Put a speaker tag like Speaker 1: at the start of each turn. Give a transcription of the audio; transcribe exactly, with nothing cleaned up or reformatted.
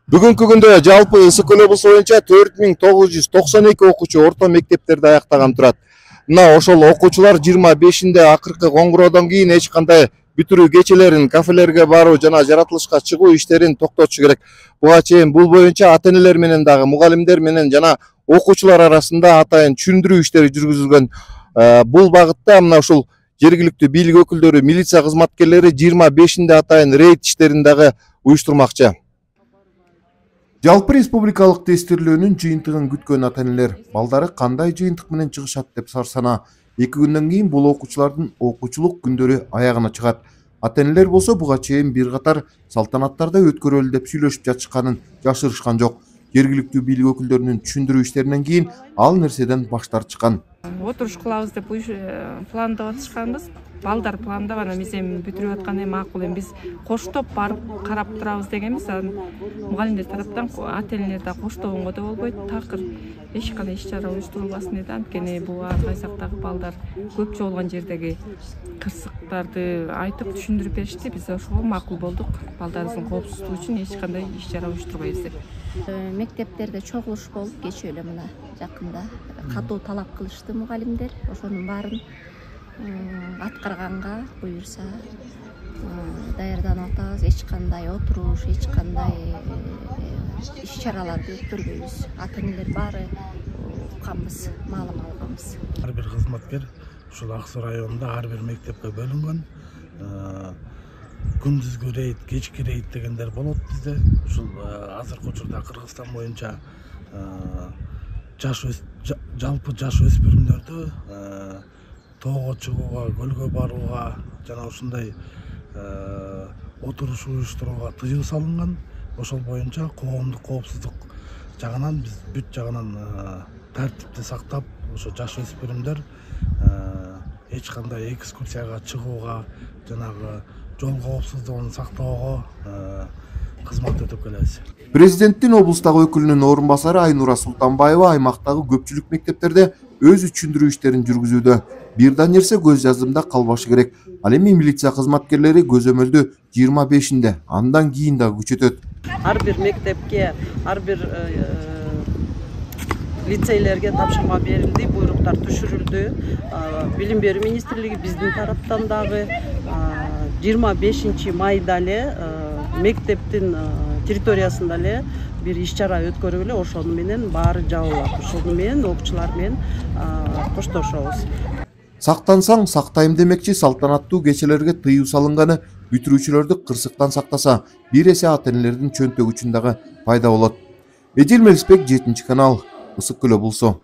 Speaker 1: Бүгүнкү күндө жалпы Ысык Көл облусу боюнча төрт миң тогуз жүз токсон эки окуучу орто мектептерди аяктаган турат. Мына ошол окуучулар жыйырма бешинде акыркы коңгуроодон кийин эч кандай бүтүрүү кечелерин, кафелерге баруу жана жаратылышка чыгуу иштерин токтотушу керек. Буга чейин бул боюнча ата энелер менен дагы мугалимдер менен жана окуучулар арасында атайын түшүндүрүү иштери жүргүзүлгөн. Бул багытта мына ушул жергиликтүү бийлик өкүлдөрү, милиция кызматкерлери жыйырма бешинде атайын рейд иштерин дагы уюштурмакчы. Жалпы республикалык тестирлөөнүн жыйынтыгын күткөн ата энелер балдары кандай жыйынтык менен чыгышат деп сарсана. Эки күндөн кийин бул окуучулардын окуучулук күндөрү аягына чыгат. Ата энелер болсо буга чейин бир катар салтанаттарды өткөрөлү деп сүйлөшүп жатышканын жашырышкан жок. Жергиликтүү бийлик өкүлдөрүнүн түшүндүрүү иштеринен кийин ал нерседен баш тартышкан.
Speaker 2: Отуруш кылабыз деп пландап атышканбыз. Балдар пландап анан биз эми бүтүрүп аткандай макул. Эми биз коштоп барып карап турабыз дегенбиз. Анан мугалимдер тараптан ата энелер да коштогонго да болбойт. Такыр эч кандай иш чара уюштурулбасын деди. Анткени бул ар кайсактагы балдар көп жолгон жердеги кырсыктарды айтып түшүндүрүп беришти. Биз ошого макул болдук. Балдарыбыздын коопсуздугу үчүн эч кандай иш чара уюштурбайбыз деп.
Speaker 3: Мектептерде чогулуш болуп кечээ эле мына жакында катуу талап кылышты мугалимдер. Ошонун баарын аткарганга буюрса даярданып атабыз. Эч кандай отуруш, эч кандай иш чараларды өткөрбөйбүз. Ата энелер баары укканбыз, маалым алганбыз.
Speaker 4: Ар бир кызматкер ушул Ак Суу районунда ар бир мектепке бөлүнгөн. Күндүзгү рейд, кечки рейд дегендер болот бизде. Ушул азыркы учурда Кыргызстан боюнча жаш жалпы жаш өспүрүмдөрдү тоого чыгууга, көлгө барууга жана ушундай отуруш уюштурууга тыюу салынган. Ошол боюнча коомдук коопсуздук жагынан биз бүт жагынан тартипти сактап, ошо жаш өспүрүмдөр эч кандай экскурсияга чыгууга, жанагы жол коопсуздугун сактоого кызмат өтөп келебиз.
Speaker 1: Президенттин облустагы өкүлүнүн орун басары Айнура Султанбаева аймактагы көпчүлүк мектептерде өзү түшүндүрүү иштерин жүргүзүүдө. Бир да нерсе көз жаздымда калбашы керек. Ал эми милиция кызматкерлери көзөмөлдү жыйырма бешинде, андан кийин дагы күчөтөт.
Speaker 5: Ар бир мектепке, ар бир лицейлерге тапшырма берилди, буйруктар түшүрүлдү. Билим берүү министрлиги биздин тараптан дагы жыйырма бешинчи майда эле мектептин территориясында эле бир иш чара өткөрүп эле ошону менен баары жабылат. Ошону менен окуучулар менен коштошобуз.
Speaker 1: Сактансаң сактайм демекчи салтанаттуу кечелерге тыюу салынганы бүтүрүүчүлөрдү кырсыктан сактаса, бир эсе ата энелердин чөнтөгү үчүн дагы пайда болот. Эдил Мелисбек, жетинчи канал, Ысык Көл облусу.